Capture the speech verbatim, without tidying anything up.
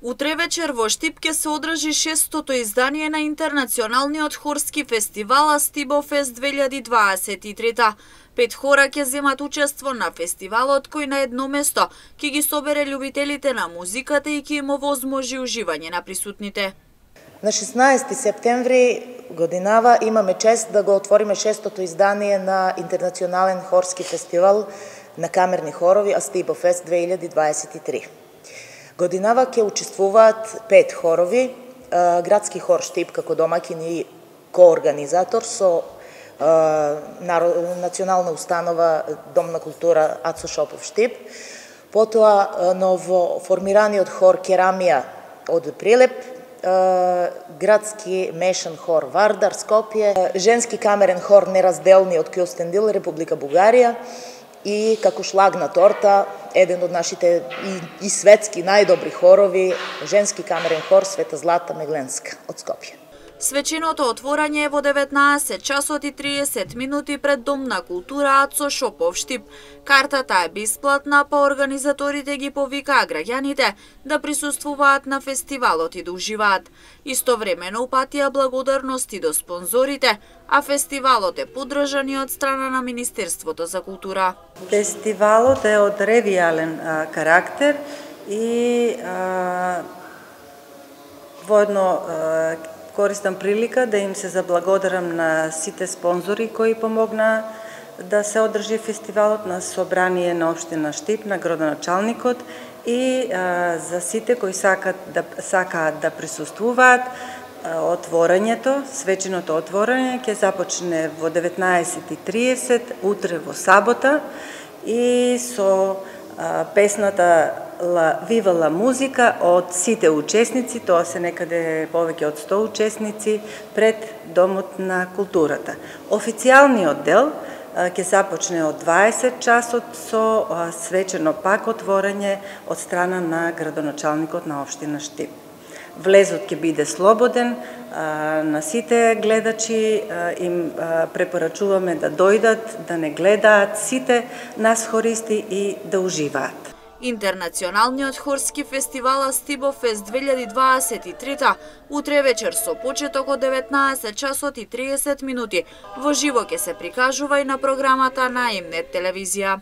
Утре вечер во Штип ќе се одржи шестото издание на Интернационалниот хорски фестивал Астибофест две илјади дваесет и трета. Пет хора ќе земат учество на фестивалот, кој на едно место ќе ги собере љубителите на музиката и ќе им овозможи уживање на присутните. На шеснаесети септември годинава имаме чест да го отвориме шестото издание на Интернационален хорски фестивал на камерни хорови Астибофест две илјади дваесет и три. Годинава ќе учествуваат пет хорови, градски хор Штип како домаќин и коорганизатор со национална установа Дом на култура Ацо Шопов Штип, потоа ново формираниот хор Керамија од Прилеп, градски мешан хор Вардар Скопје, женски камерен хор Неразделни од Кјостендил, Република Бугарија, и како шлаг на торта, еден од нашите и, и светски најдобри хорови, женски камерен хор Света Злата Мегленска од Скопје. Свеченото отворање е во деветнаесет часот и триесет минути пред Дом на култура Ацо Шопов Штип. Картата е бесплатна, па организаторите ги повикаа граѓаните да присуствуваат на фестивалот и да уживаат. Истовремено упатија благодарности до спонзорите, а фестивалот е поддржан и од страна на Министерството за култура. Фестивалот е од ревијален а, карактер и а, воедно а, користам прилика да им се заблагодарам на сите спонзори кои помогнаа да се одржи фестивалот, на собрание на општина Штип, на градоначалникот и а, за сите кои сакаат да сакаат да присуствуваат. Отворањето, свеченото отворање ќе започне во деветнаесет и триесет утре во сабота и со а, песната Ла Вива ла музика од сите учесници, тоа се некаде повеќе од сто учесници пред Домот на културата. Официјалниот дел ќе започне од дваесет часот со а, свечено пак отворање од страна на градоначалникот на општина Штип. Влезот ќе биде слободен, а, на сите гледачи а, им а, препорачуваме да дојдат, да не гледаат сите нас хористи и да уживаат. Интернационалниот хорски фестивал Астибофест две илјади дваесет и трета утре вечер со почеток од деветнаесет часот и триесет минути во живо ќе се прикажува и на програмата на М Нет телевизија.